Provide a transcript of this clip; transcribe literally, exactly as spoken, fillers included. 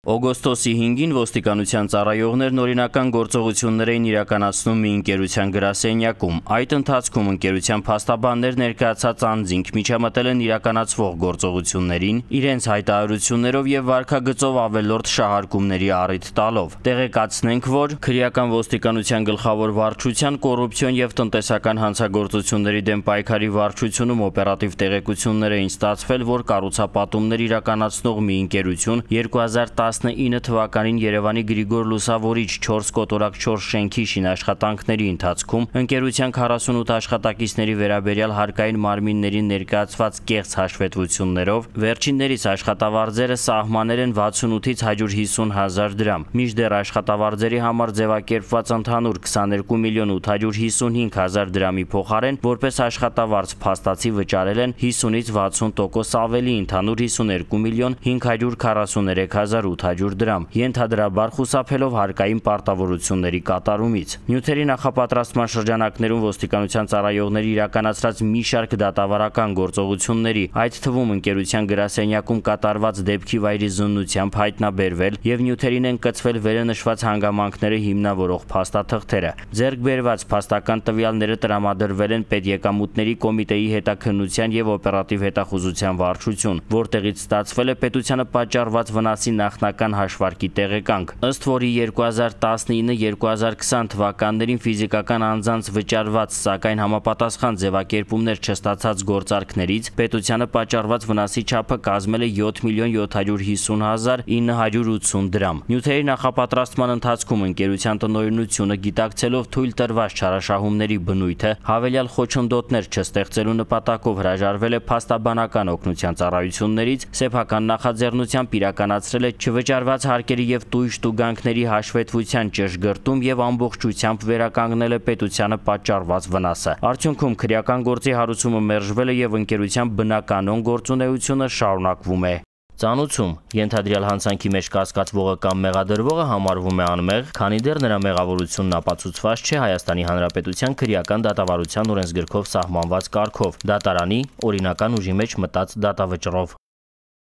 Օգոստոսի հինգին ոստիկանության ծառայողներն օրինական գործողություններ էին իրականացնում մի ընկերության գրասենյակում։ Այդ ընթացքում ընկերության փաստաբաններ ներկայացած անձինք միջամտել են իրականացվող գործողություններին, իրենց հայտարարություններով եւ վարքագծով ավելորդ շահարկումների առիթ տալով։ Տեղեկացնենք, որ քրեական ոստիկանության գլխավոր վարչության կոռուպցիոն եւ տնտեսական հանցագործությունների դեմ պայքարի վարչությունում օպերատիվ տեղեկություններ էին ստացվել, որ կառուցապատումներ իրականացնող մի ընկերություն երկու հազար տասնինը թվականին Երևանի Գրիգոր Լուսավորիչ չորս կոտորակ չորս շենքի շինաշխատանքների ընթացքում ընկերության քառասունութ աշխատակիցների վերաբերյալ հարկային մարմիններին ներկայացված կեղծ հաշվետվություններով վերջիններիս աշխատավարձերը սահմանել են վաթսունութից հարյուր հիսուն հազար դրամ, մինչդեռ աշխատավարձերի համար ձևակերպված ընդհանուր քսաներկու միլիոն ութ հարյուր հիսունհինգ հազար դրամի փոխարեն որպես աշխատավարձ փաստացի վճարել են հիսունից վաթսուն տոկոս ավելի, ընդհանուր հիսուներկու միլիոն հինգ հարյուր քառասուներեք հազար ութ հարյուր դրամ, ենթադրաբար խուսափելով հարկային պարտավորությունների կատարումից։ Նյութերի նախապատրաստման շրջանակներում ոստիկանության ծառայողների իրականացրած մի շարք դատավարական գործողությունների, այդ թվում ընկերության գրասենյակում կատարված դեպքի վայրի զննությամբ հայտնաբերվել եւ նյութերին են կցվել վերենշված հանգամանքները հիմնավորող փաստաթղթերը։ Ձեռք բերված փաստական տվյալները տրամադրվել են Պետեկամուտների կոմիտեի հետաքննության եւ օպերատիվ հետախուզության վարչություն, որտեղից ստացվել է պետությանը պատճառված վնասի նախնական հաշվարկի տեղեկանք, ըստ որի երկու հազար տասնինը երկու հազար քսան թվականներին ֆիզիկական անձանց վճարված, սակայն համապատասխան ձևակերպումներ չստացած գործարքներից պետությանը պատճառված վնասի չափը կազմել է յոթ միլիոն յոթ հարյուր հիսուն հազար ինը հարյուր ութսուն դրամ։ Նյութերի նախապատրաստման ընթացքում ընկերության տնօրինությունը գիտակցելով թույլ տրված չարաշահումների բնույթը հավելյալ խոչընդոտներ չստեղծելու նպատակով հրաժարվել է փաստաբանական օգնության ծառայություններից, սեփական նախաձեռնությամբ իրականացրել է չվճարված հարկերի եւ տույժ տուգանքների հաշվետվության ճշգրտում եւ ամբողջությամբ վերականգնել է պետությանը պատճառված վնասը։ Արդյունքում քրեական գործի հարուցումը մերժվել է եւ ընկերության բնականոն գործունեությունը շարունակվում է։ Ծանուցում ենթադրյալ հանցանքի մեջ կասկածվողը կամ մեղադրվողը համարվում է անմեղ, քանի դեռ նրա մեղավորությունն ապացուցված չէ Հայաստանի Հանրապետության քրեական դատավարության օրենսգրքով սահմանված կարգով՝ դատարանի օրինական ուժի մեջ մտած դատավճռով։